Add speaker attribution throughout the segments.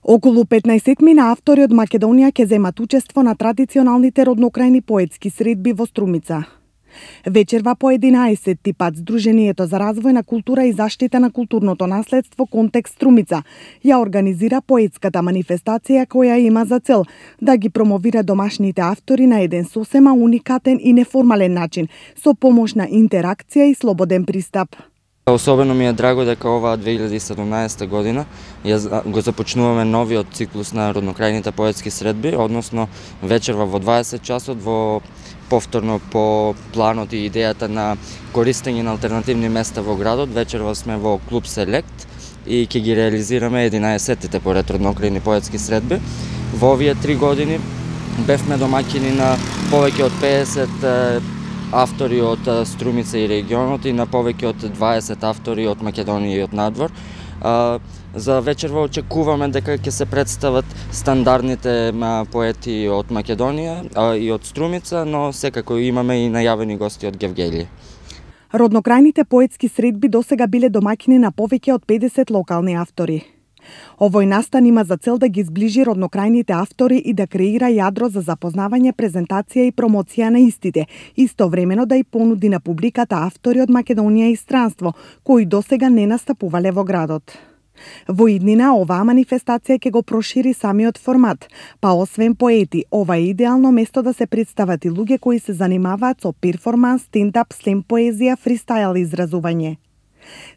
Speaker 1: Околу 15 автори од Македонија ќе земат учество на традиционалните роднокрајни поетски средби во Струмица. Вечерва по 11-ти пат Сдруженијето за развој на култура и заштита на културното наследство Контекст Струмица ја организира поетската манифестација која има за цел да ги промовира домашните автори на еден сосема уникатен и неформален начин, со помош на интеракција и слободен пристап.
Speaker 2: Особено ми е драго дека оваа 2017 година го започнуваме новиот циклус на роднокрајните поетски средби, односно вечерва во 20 часот во повторно по планот и идејата на користење на алтернативни места во градот. Вечерва сме во клуб Селект и ќе ги реализираме 11-тите поред роднокрајни поетски средби. Во овие 3 години бевме домаќини на повеќе од 50 автори од Струмица и регионот и на повеќе од 20 автори од Македонија и од надвор. За вечерва очекуваме дека ќе се представат стандардните поети од Македонија и од Струмица, но секако имаме и најавени гости од Гевгелија.
Speaker 1: Роднокрајните поетски средби досега биле домаќини на повеќе од 50 локални автори. Овој настан има за цел да ги зближи роднокрајните автори и да креира јадро за запознавање, презентација и промоција на истите, истовремено да и понуди на публиката автори од Македонија и странство, кои досега не настапувале во градот. Во иднина оваа манифестација ќе го прошири самиот формат, па освен поети, ова е идеално место да се представат и луѓе кои се занимаваат со перформанс, стендап, слем поезија, фристайл изразување.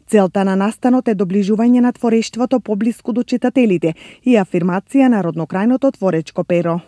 Speaker 1: Целта на настанот е доближување на творештвото поблиску до читателите и афирмација на роднокрајното творечко перо.